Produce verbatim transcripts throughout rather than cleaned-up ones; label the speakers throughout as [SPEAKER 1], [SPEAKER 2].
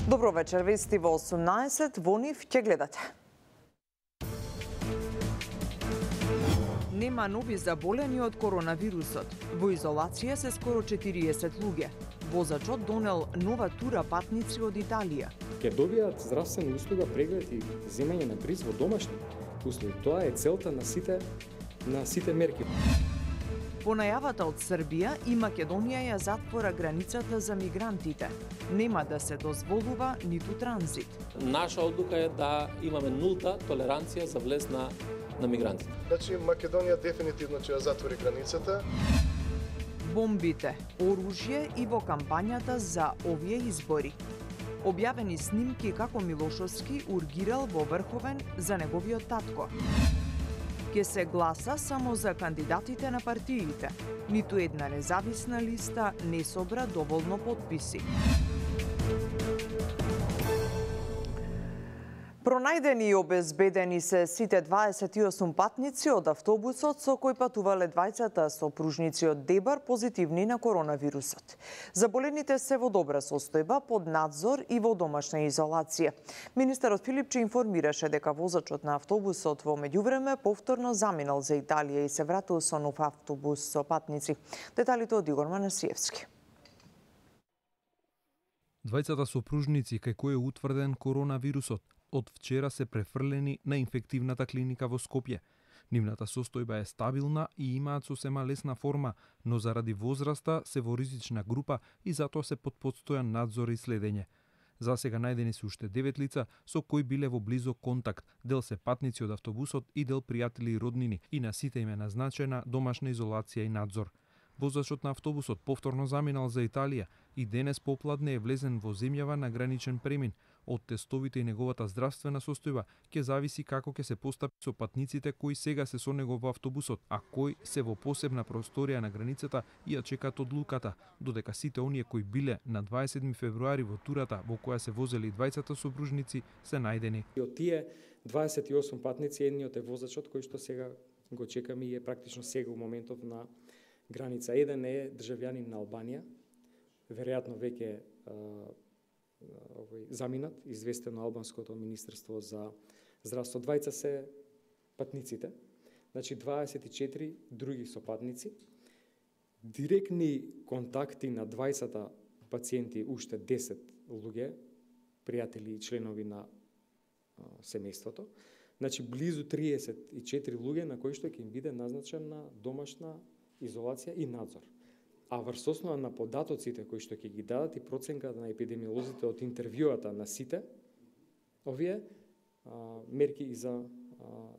[SPEAKER 1] Добро вечер, вести во осумнаесет, во нив ќе гледате. Нема нови заболени од коронавирусот. Во изолација се скоро четириесет луѓе. Возачот донел нова тура патници од Италија.
[SPEAKER 2] Ке добијат здравствена услуга, преглед и земање на бриз во домашни услови. Тоа е целта на сите на сите мерки.
[SPEAKER 1] По најавата од Србија и Македонија ја затвора границата за мигрантите. Нема да се дозволува ниту транзит.
[SPEAKER 3] Наша одлука е да имаме нулта толеранција за влез на на мигрантите.
[SPEAKER 4] Значи Македонија дефинитивно ќе ја затвори границата.
[SPEAKER 1] Бомбите, оружје и во кампањата за овие избори. Објавени снимки како Милошовски ургирал во Врховен за неговиот татко. Ке се гласа само за кандидатите на партиите. Ниту една независна листа не собра доволно потписи. Пронајдени и обезбедени се сите дваесет и осум патници од автобусот со кој патувале двајцата сопружници од Дебар позитивни на коронавирусот. Заболените се во добра состојба, под надзор и во домашна изолација. Министерот Филипче информираше дека возачот на автобусот во меѓувреме повторно заминал за Италија и се вратил со нов автобус со патници. Деталите од Игор Манасиевски.
[SPEAKER 5] Двајцата сопружници кај кои е утврден коронавирусот од вчера се префрлени на инфективната клиника во Скопје. Нивната состојба е стабилна и имаат сосема лесна форма, но заради возраста се во ризична група и затоа се под постојан надзор и следење. За сега најдени се уште девет лица со кои биле во близок контакт, дел се патници од автобусот и дел пријатели и роднини, и на сите им е назначена домашна изолација и надзор. Возачот на автобусот повторно заминал за Италија и денес попладне е влезен во земјава на граничен премин. Од тестовите и неговата здравствена состојба ќе зависи како ќе се постапи со патниците кои сега се со него во автобусот, а кои се во посебна просторија на границата и ја чекаат одлуката, додека сите оние кои биле на дваесет и седми февруари во турата во која се возели двајцата сопружници се најдени.
[SPEAKER 2] И од тие дваесет и осум патници едниот е возачот кој што сега го чекаме и е практично сега во моментов на граница. Еден е државјанин на Албанија, веројатно веќе овој заминат, известено албанското министерство за здравство. Двајца се патниците, значи дваесет и четири други сопатници. Директни контакти на двајцата пациенти уште десет луѓе, пријатели и членови на а, семејството. Значи близу триесет и четири луѓе на кои што ќе им биде назначена домашна изолација и надзор. А врз основа на податоците кои што ќе ги дадат и проценката на епидемиолозите од интервјуата на сите, овие а, мерки и за а,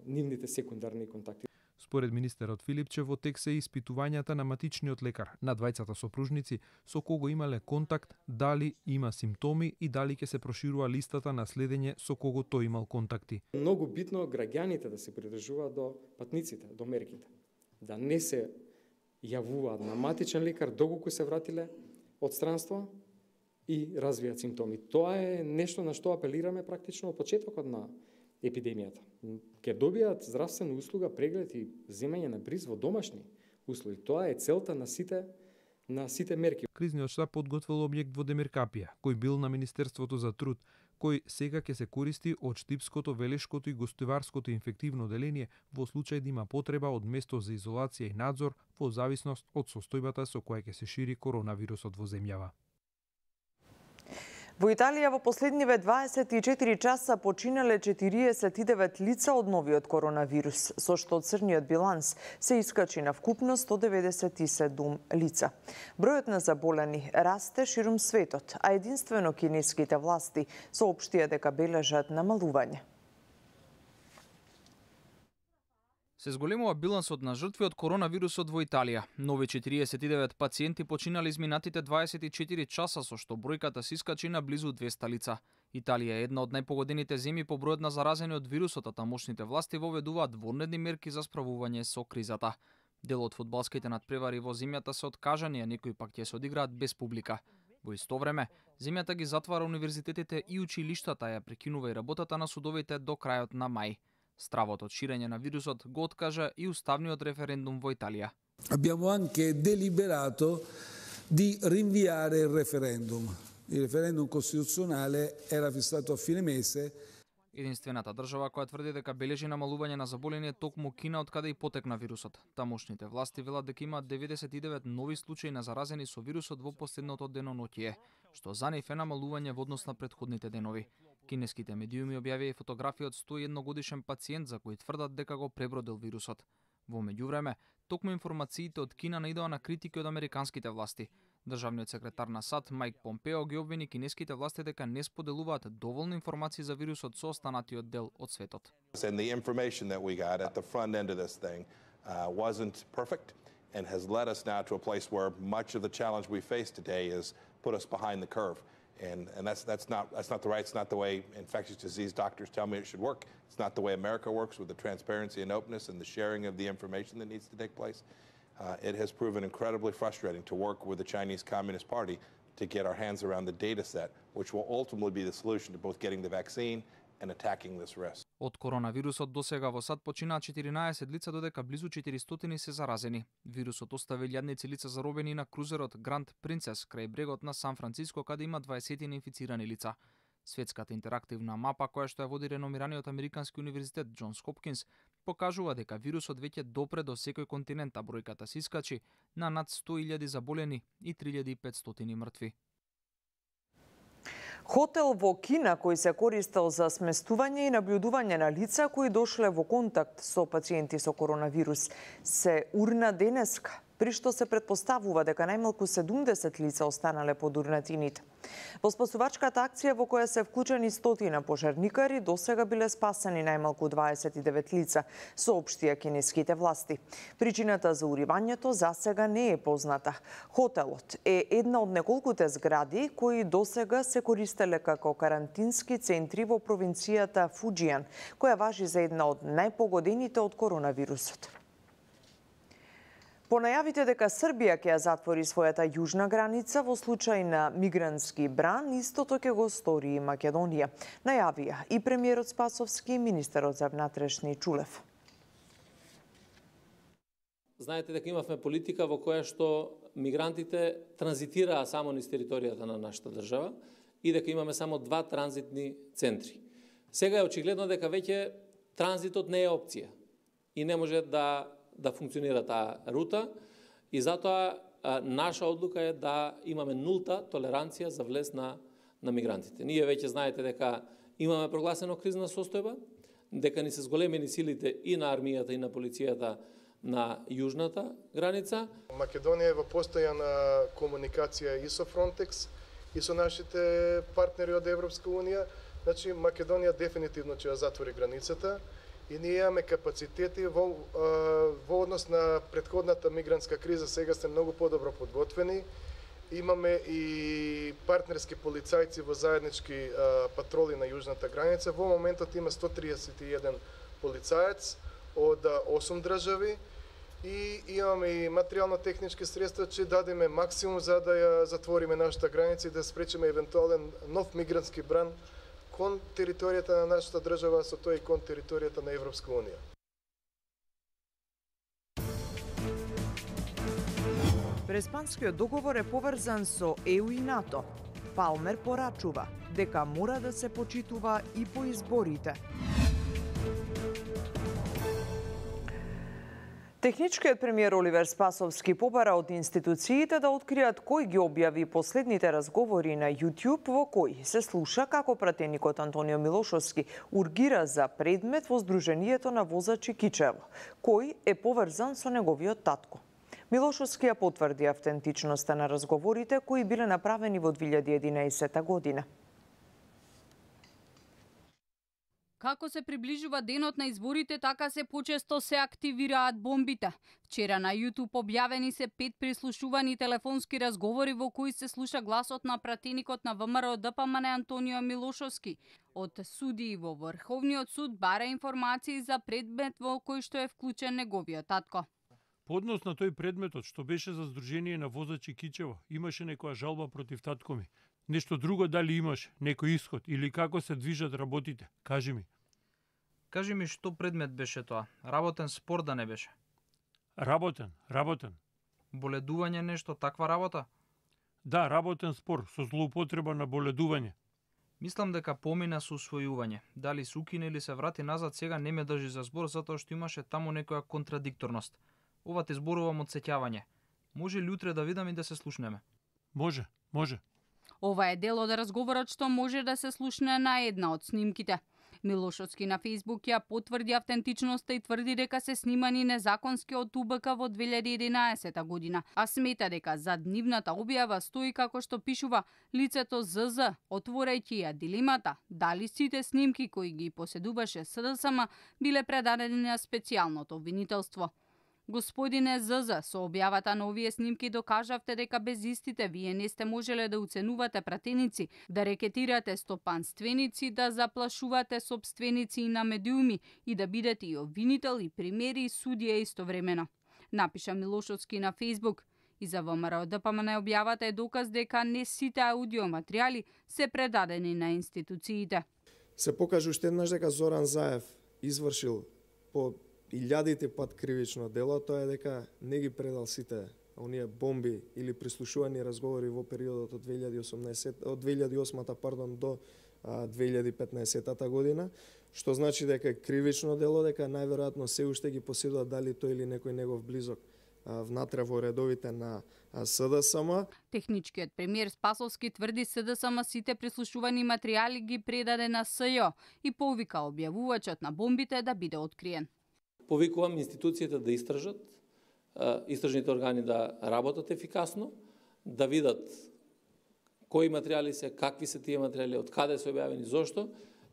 [SPEAKER 2] нивните секундарни контакти.
[SPEAKER 5] Според министерот Филипче, во тек се испитувањата на матичниот лекар на двајцата сопружници со кого имале контакт, дали има симптоми и дали ќе се проширува листата на следење со кого тој имал контакти.
[SPEAKER 2] Многу битно граѓаните да се придржуваат до патниците, до мерките. Да не се јавуваат на матичен лекар доколку се вратиле од странство и развијат симптоми. Тоа е нешто на што апелираме практично од почетокот на епидемијата. Ке добијат здравствена услуга, преглед и земање на бриз во домашни услови. Тоа е целта на сите на сите мерки.
[SPEAKER 5] Кризниот штаб подготвил објект во Демиркапија, кој бил на Министерството за труд, кој сега ќе се користи од Штипското, Велешкото и Гостуварското инфективно оделение во случај да има потреба од место за изолација и надзор во зависност од состојбата со која ќе се шири коронавирусот во земјава.
[SPEAKER 1] Во Италија во последниве дваесет и четири часа починале четириесет и девет лица од новиот коронавирус, со што од црниот биланс се искачи на вкупно сто деведесет и седум лица. Бројот на заболени расте ширум светот, а единствено кинеските власти соопштија дека бележат намалување.
[SPEAKER 6] Се зголемува билансот на жртви од коронавирусот во Италија. Нови четириесет и девет пациенти починале изминатите дваесет и четири часа, со што бројката се искачи на близу двеста лица. Италија е една од најпогодените земји по бројот на заразени од вирусот, а тамошните власти воведуваат вонредни мерки за справување со кризата. Дел од фудбалските надпревари во земјата се откажани, а некои пак ќе се одиграат без публика. Во исто време, земјата ги затвара универзитетите и училиштата, ја прекинува и работата на судовите до крајот на мај. Стравот од ширење на вирусот го откажа и уставниот референдум во Италија.
[SPEAKER 7] Abbiamo anche deliberato di rinviare il referendum. Il referendum costituzionale era fissato a fine mese.
[SPEAKER 6] Единствената држава која тврди дека бележи намалување на заболени е токму Кина, од каде и потекна вирусот. Тамошните власти велат дека има деветдесет и девет нови случаи на заразени со вирусот во последното деноноќие, што за нив е намалување во однос на претходните денови. Кинеските медиуми објавија и фотографија од сто и едно годишен пациент за кој тврдат дека го пребродил вирусот. Во меѓувреме, токму информациите од Кина наидоа на критики од американските власти. Државниот секретар на САД Майк Помпео ги обвини кинеските власти дека не споделуваат доволно информации за вирусот со останатиот дел од светот.
[SPEAKER 8] And the information that we got at the front end of this thing uh, wasn't perfect and has led us now to a place where much of the challenge we face today is put us behind the curve. And, and that's, that's, not, that's not the right, it's not the way infectious disease doctors tell me it should work. It's not the way America works with the transparency and openness and the sharing of the information that needs to take place. Uh, it has proven incredibly frustrating to work with the Chinese Communist Party to get our hands around the data set, which will ultimately be the solution to both getting the vaccine and attacking this risk.
[SPEAKER 6] Од коронавирусот до сега во САД починаа четиринаесет лица, додека близу четиристотини се заразени. Вирусот остави илјадници лица заробени на крузерот Гранд Принцес крај брегот на Сан Франциско, каде има дваесет инфицирани лица. Светската интерактивна мапа, која што ја води реномираниот американски универзитет Џонс Хопкинс, покажува дека вирусот веќе допре до секој континент, а бројката се искачи на над сто илјади заболени и три илјади и петстотини мртви.
[SPEAKER 1] Хотел во Кина кој се користел за сместување и наблюдување на лица кои дошле во контакт со пациенти со коронавирус се урна денеска, при што се претпоставува дека најмалку седумдесет лица останале под урнатините. Во спасувачката акција во која се вклучени стотина пожарникари, досега биле спасени најмалку дваесет и девет лица, соопштија кинеските власти. Причината за уривањето засега не е позната. Хотелот е една од неколкуте згради кои досега се користеле како карантински центри во провинцијата Фуџијан, која важи за една од најпогодените од коронавирусот. По најавите дека Србија ќе ја затвори својата јужна граница во случај на мигрантски бран, истото ќе го стори и Македонија. Најавија и премиерот Спасовски и министерот за внатрешни Чулев.
[SPEAKER 3] Знаете дека имавме политика во која што мигрантите транзитираа само низ територијата на нашата држава и дека имаме само два транзитни центри. Сега е очигледно дека веќе транзитот не е опција и не може да да функционира таа рута и затоа а, наша одлука е да имаме нулта толеранција за влез на, на мигрантите. Ние веќе знаете дека имаме прогласено кризна состојба, дека ни се зголемени силите и на армијата и на полицијата на јужната граница.
[SPEAKER 4] Македонија е во постојана комуникација и со Фронтекс и со нашите партнери од Европска унија. Значи Македонија дефинитивно ќе ја затвори границата. И ние имаме капацитети во, во однос на претходната мигрантска криза, сега сте многу подобро подготвени. Имаме и партнерски полицајци во заеднички патроли на јужната граница. Во моментот има сто триесет и еден полицаец од осум држави и имаме и материјално-технички средства, че дадеме максимум за да ја затвориме нашата граница и да спречиме евентуален нов мигрантски бран кон територијата на нашата држава, со тоа и кон територијата на Европска унија.
[SPEAKER 1] Преспанскиот договор е поврзан со Е У и НАТО. Палмер порачува дека мора да се почитува и по изборите. Техничкиот премиер Оливер Спасовски побара од институциите да откријат кој ги објави последните разговори на YouTube во кои се слуша како пратеникот Антонио Милошовски ургира за предмет во Сдруженијето на возачи Кичево, кој е поврзан со неговиот татко. Милошовски ја потврди автентичноста на разговорите кои биле направени во две илјади и единаесета година.
[SPEAKER 9] Како се приближува денот на изборите, така се почесто се активираат бомбите. Вчера на YouTube објавени се пет прислушувани телефонски разговори во кои се слуша гласот на пратеникот на Вэ Ем Р Д П М Н Антонио Милошовски. Од судии во Врховниот суд бара информации за предмет во кој што е вклучен неговиот татко.
[SPEAKER 10] По однос на тој предметот што беше за Сдружение на возачи Кичево, имаше некоја жалба против татко ми. Нешто друго дали имаш, некој исход или како се движат работите? Кажи ми.
[SPEAKER 6] Кажи ми што предмет беше тоа? Работен спор да не беше?
[SPEAKER 10] Работен, работен.
[SPEAKER 6] Боледување нешто, таква работа?
[SPEAKER 10] Да, работен спор со злоупотреба на боледување.
[SPEAKER 6] Мислам дека помина со усвојување. Дали се укине или се врати назад сега не ме држи за збор затоа што имаше таму некоја контрадикторност. Ова те зборувам од сеќавање. Може ли утре да видам и да се слушнеме?
[SPEAKER 10] Може, може.
[SPEAKER 9] Ова е дел од разговорот што може да се слушне на една од снимките. Милошовски на Фејсбук ја потврди автентичноста и тврди дека се снимани незаконски од У Б К во две илјади и единаесета година, а смета дека зад нивната објава стои како што пишува лицето З З, отворајќи ја дилемата дали сите снимки кои ги поседуваше С Д С М биле предадени на специјалното обвинителство. Господине З З, со објавата на овие снимки докажавте дека без истите вие не сте можеле да уценувате пратеници, да рекетирате стопанственици, да заплашувате сопственици и на медиуми и да бидете и обвинител и примери и судија истовремено. Напиша Милошовски на Фејсбук. И за Во М Р Д П М Н објавата е доказ дека не сите аудиоматеријали се предадени на институциите.
[SPEAKER 11] Се покажа уште еднаш дека Зоран Заев извршил по илјадите пат кривично дело, тоа е дека не ги предал сите оние бомби или прислушувани разговори во периодот од две илјади и осумнаесета од две илјади и осма пардон до две илјади и петнаесета година, што значи дека е кривично дело, дека најверојатно се уште ги поседува дали тој или некој негов близок внатре во редовите на С Д С М.
[SPEAKER 9] Техничкиот премиер Спасовски тврди С Д С М сите прислушувани материјали ги предаде на С Ј и повика објавувачот на бомбите да биде откриен.
[SPEAKER 3] Повикувам институциите да истражат, истражните органи да работат ефикасно, да видат кои материјали се, какви се тие материјали, од каде се објавени, зошто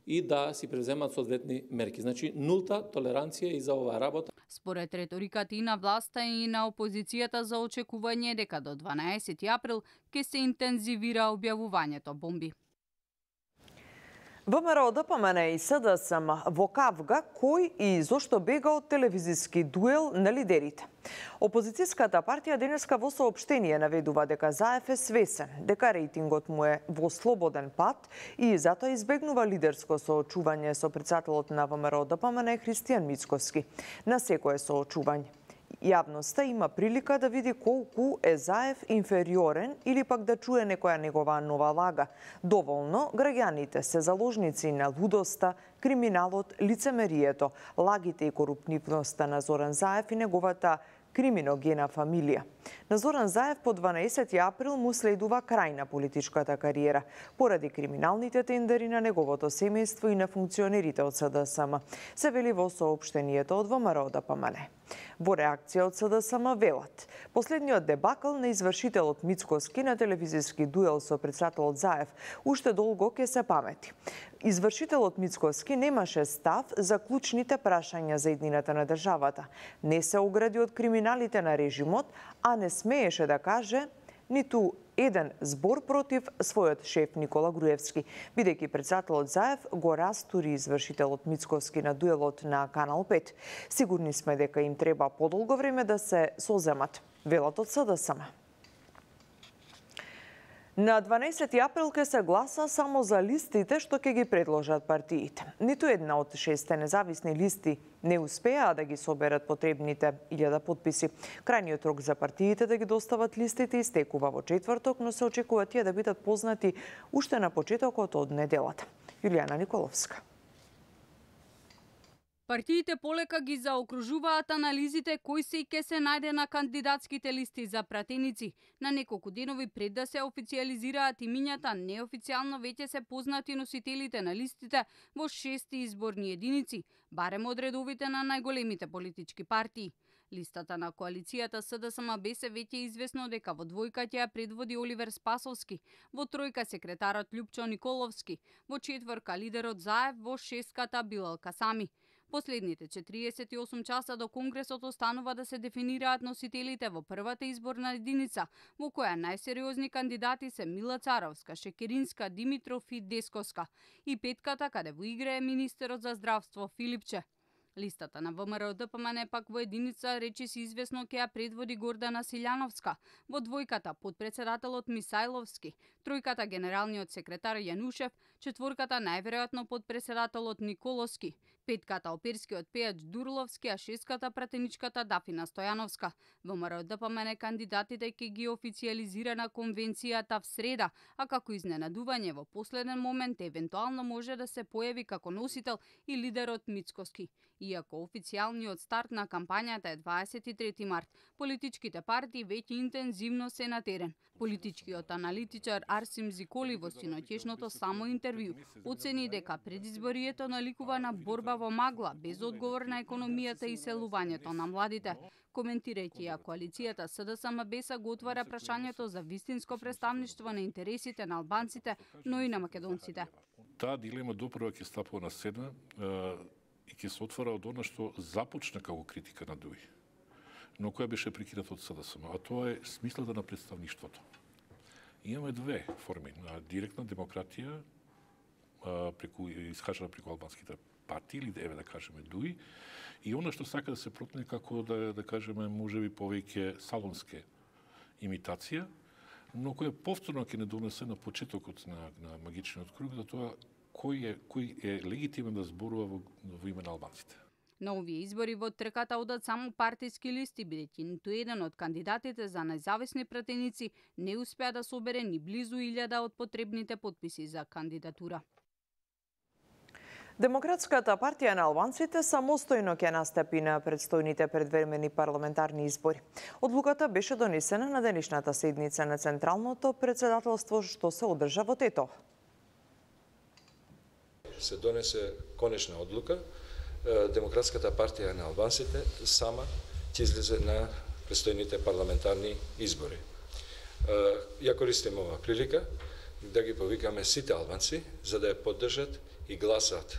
[SPEAKER 3] и да си преземат соодветни мерки. Значи нулта толеранција и за оваа работа.
[SPEAKER 9] Според реториката и на власта и на опозицијата за очекување дека до дванаесети април ќе се интензивира објавувањето бомби.
[SPEAKER 1] Во М Р Д П М Н и С Д С М во Кавга кој и зошто бега од телевизиски дуел на лидерите. Опозицијската партија денеска во соопштение наведува дека Заев е свесен, дека рейтингот му е во слободен пат и затоа избегнува лидерско соочување со претседателот на Во М Р Д П М Н Христијан Мицкоски на секое соочување. Јавноста има прилика да види колку е Заев инфериорен или пак да чуе некоја негова нова лага. Доволно граѓаните се заложници на лудоста, криминалот, лицемерието, лагите и корупнивноста на Зоран Заев и неговата криминогена фамилија. На Зоран Заев по дванаесети април му следува крај на политичката кариера, поради криминалните тендери на неговото семејство и на функционерите од С Д С М, се вели во соопштението од Во М Р Д П М Н. Во реакција од С Д С М велат, последниот дебакл на извршителот Мицкоски на телевизиски дуел со претседателот Заев уште долго ќе се памети. Извршителот Мицкоски немаше став за клучните прашања за иднината на државата. Не се огради од криминалите на режимот, а не смееше да каже ниту еден збор против својот шеф Никола Груевски, бидејќи претседателот Заев го растури извршителот Мицкоски на дуелот на Канал пет. Сигурни сме дека им треба подолго време да се соземат, велат од С Д С М. На дванаесети април ќе се гласа само за листите што ќе ги предложат партиите. Ниту една од шесте независни листи не успеа да ги соберат потребните илјада потписи. Крајниот рок за партиите да ги достават листите истекува во четврток, но се очекува тие да бидат познати уште на почетокот од неделата. Јулијана Николовска.
[SPEAKER 9] Партиите полека ги заокружуваат анализите кој се и ке се најде на кандидатските листи за пратеници. На неколку денови пред да се официализираат имињата, неофицијално веќе се познати носителите на листите во шести изборни единици, барем од редовите на најголемите политички партии. Листата на коалицијата С Д С М Б С веќе е известно дека во двојка ќе ја предводи Оливер Спасовски, во тројка секретарот Љупчо Николовски, во четворка лидерот Заев, во шестката Билал Касами. Последните четириесет и осум часа до Конгресот останува да се дефинираат носителите во првата изборна единица, во која најсериозни кандидати се Мила Царовска, Шекеринска, Димитров и Десковска, и петката каде во игра е министерот за здравство Филипче. Листата на Во М Р Д П М Н пак во единица речиси известно ќе ја предводи Гордана Силјановска, во двојката подпредседателот Мисајловски, тројката генералниот секретар Јанушев, четворката најверојатно подпредседателот Николовски, Петката оперскиот пејач Дурловски, а шестката пратеничката Дафина Стојановска. ВМРО Д П М Н кандидатите ќе ги официјализира на конвенцијата в среда, а како изненадување во последен момент евентуално може да се појави како носител и лидерот Мицкоски. Иако официјалниот старт на кампањата е дваесет и трети март, политичките партии веќе интензивно се на терен. Политичкиот аналитичар Арсим Зиколи во синоќешното само интервју оцени дека предизборието наликува на борба во магла, без одговор на економијата и селувањето на младите. Коментирајќи ја коалицијата С Д С М Б С го отвара прашањето за вистинско представништво на интересите на албанците, но и на македонците.
[SPEAKER 12] Таа дилема допрва ќе стапува на седна и ќе се отвара од она што започна како критика на ДУИ, но која беше прекината од С Д С М, а тоа е смислата на представништвото. Имаме две форми на директна демократија преку искажана преку албанските партии или еве да кажеме ДУИ, и она што сака да се протне како да да кажеме можеби повеќе салонске имитација, но која повторно ќе не донесе на почетокот на на магичниот круг за тоа кој е кој е легитимен да зборува во, во име на албанците.
[SPEAKER 9] На овие избори во трката одат само партиски листи, бидејќи ниту еден од кандидатите за независни пратеници не успеа да собере ни близу илјада од потребните потписи за кандидатура.
[SPEAKER 1] Демократската партија на албанците самостојно ќе настапи на предстојните предвремени парламентарни избори. Одлуката беше донесена на денешната седница на Централното председателство што се одржа во Тетово.
[SPEAKER 13] Се донесе конечна одлука. Демократската партија на албанците сама ќе излезе на предстојните парламентарни избори. Ја користим ова прилика да ги повикаме сите албанци за да ја поддржат и гласат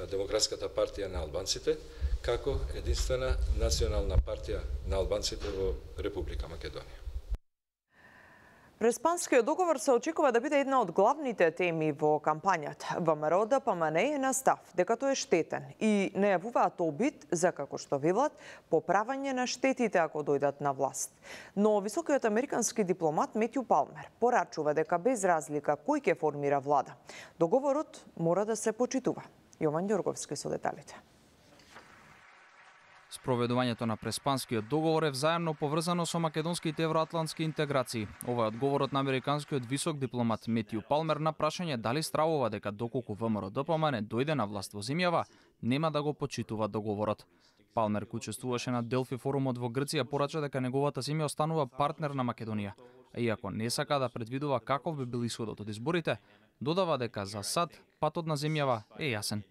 [SPEAKER 13] Демократската партија на албанците како единствена национална партија на албанците во Република Македонија.
[SPEAKER 1] Преспанскиот договор се очекува да биде една од главните теми во кампањата. ВМРО Д П М Н е на став дека тој е штетен и најавуваат обид за, како што велат, поправање на штетите ако дојдат на власт. Но високиот американски дипломат Метју Палмер порачува дека без разлика кој ќе формира влада, договорот мора да се почитува. Јован Ѓорговски со деталите.
[SPEAKER 6] Спроведувањето на Преспанскиот договор е взаемно поврзано со македонските евроатлантски интеграции. Ова е одговорот на американскиот висок дипломат Метју Палмер на прашање дали стравува дека доколку ВМРО Д П М Н дојде на власт во земјава, нема да го почитува договорот. Палмер, кој учествуваше на Делфи форумот во Грција, порача дека неговата земја останува партнер на Македонија. А иако не сака да предвидува каков би бил исходот од изборите, додава дека за сад патот на земјава е јасен.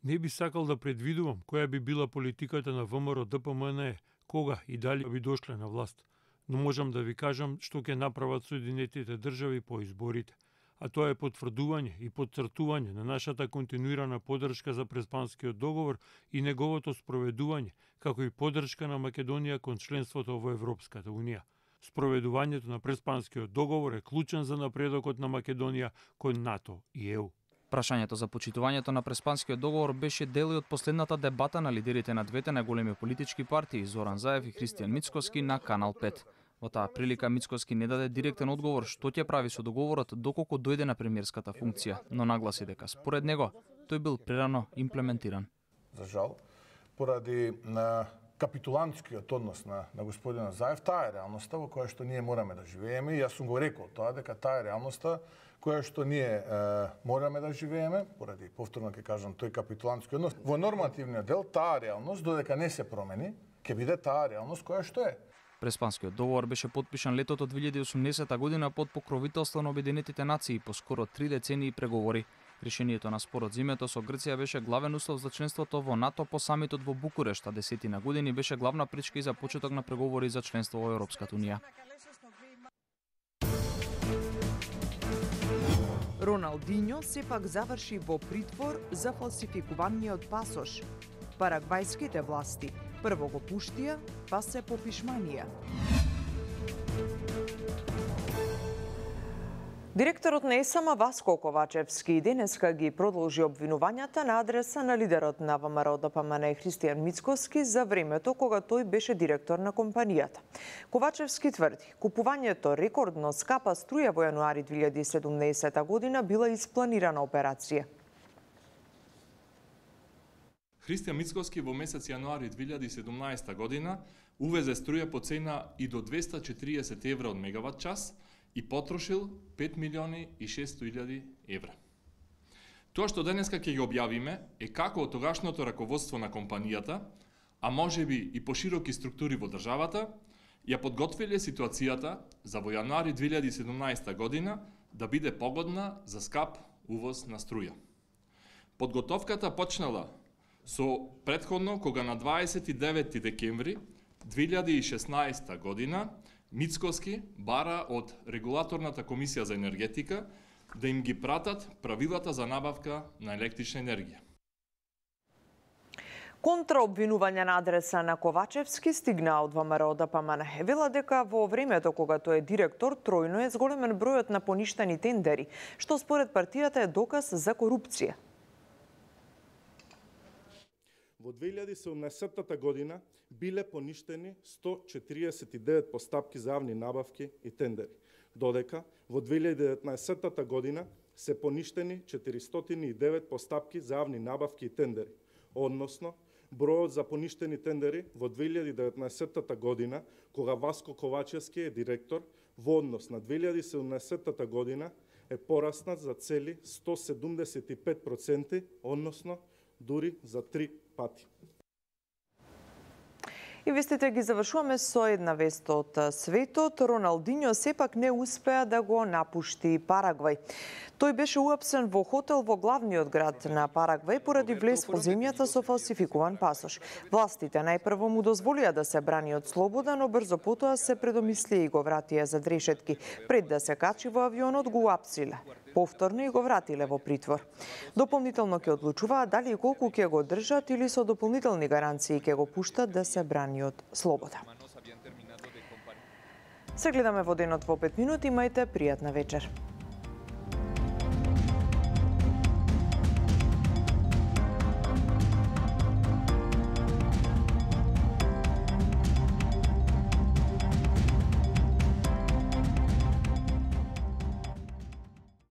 [SPEAKER 10] Не би сакал да предвидувам која би била политиката на ВМРО Д П М Н, кога и дали би дошле на власт, но можам да ви кажам што ќе направат Соединетите држави по изборите, а тоа е потврдување и потцртување на нашата континуирана поддршка за Преспанскиот договор и неговото спроведување, како и поддршка на Македонија кон членството во Европската Унија. Спроведувањето на Преспанскиот договор е клучен за напредокот на Македонија кон НАТО и Е У.
[SPEAKER 6] Прашањето за почитувањето на Преспанскиот договор беше дел од последната дебата на лидерите на двете најголеми политички партии Зоран Заев и Христијан Мицкоски на Канал пет. Во таа прилика Мицкоски не даде директен одговор што ќе прави со договорот доколку дојде на премиерската функција, но нагласи дека според него тој бил прерано имплементиран.
[SPEAKER 14] За жал, поради на капитулантскиот однос на, на господина Заев, таа е реалноста во која што ние мораме да живееме и јас сум го рекол тоа дека таа е реалноста која што ние е, мораме да живееме, поради повторно ќе кажам тој капитулантски однос. Во нормативниот дел таа реалност додека не се промени, ќе биде таа реалност која што е.
[SPEAKER 6] Преспанскиот договор беше потпишан летото две илјади и осумнесета година под покровителство на Обединетите нации по скоро три децении преговори. Решението на спорот зимето со Грција беше главен услов за членството во НАТО по самитот во Букурешт, а десетина години беше главна пречка и за почеток на преговори за членство во Европската Унија.
[SPEAKER 1] Роналдиньо сепак заврши во притвор за фалсификуваниот пасош. Парагвајските власти прво го пуштија, па се попишманија. Директорот на Е С М Васко Ковачевски денеска ги продолжи обвинувањата на адреса на лидерот на ВМРО Д П М Н Христијан Мицкоски за времето кога тој беше директор на компанијата. Ковачевски тврди, купувањето рекордно скапа струја во јануари две илјади и седумнаесета година била испланирана операција.
[SPEAKER 15] Христијан Мицкоски во месец јануари две илјади и седумнаесета година увезе струја по цена и до двеста и четириесет евра од мегават час и потрошил пет милиони и шестстотини илјади евра. Тоа што денеска ќе ги објавиме е како од тогашното раководство на компанијата, а можеби и пошироки структури во државата, ја подготвиле ситуацијата за во јануари две илјади и седумнаесета година да биде погодна за скап увоз на струја. Подготовката почнала со претходно кога на дваесет и девети декември две илјади и шеснаесета година Мицкоски бара од Регулаторната комисија за енергетика да им ги пратат правилата за набавка на електрична енергија.
[SPEAKER 1] Контраобвинување на адреса на Ковачевски стигна од ВМРО Д П М Н. Вела дека во времето кога тој е директор, тројно е зголемен бројот на поништени тендери, што според партијата е доказ за корупција.
[SPEAKER 16] Во две илјади и седумнаесета година биле поништени сто четириесет и девет постапки за јавни набавки и тендери, додека во две илјади и деветнаесета година се поништени четиристотини и девет постапки за јавни набавки и тендери, односно бројот за поништени тендери во две илјади и деветнаесета година, кога Васко Ковачевски е директор, во однос на две илјади и седумнаесета година е пораснат за цели сто седумдесет и пет проценти, односно дури за три пати.
[SPEAKER 1] И вестите ги завршуваме со една вест од светот. Роналдиньо сепак не успеа да го напушти Парагвај. Тој беше уапсен во хотел во главниот град на Парагвај поради влез во земјата со фалсификуван пасош. Властите најпрво му дозволија да се брани од слобода, но брзо потоа се предомислија и го вратија зад решетки. Пред да се качи во авионот го уапсиле. Повторно и го вратиле во притвор. Дополнително ќе одлучуваат дали и колку ќе го држат или со дополнителни гаранции ќе го пуштат да се брани од слобода. Се гледаме во денот во пет минути, имајте пријатна вечер.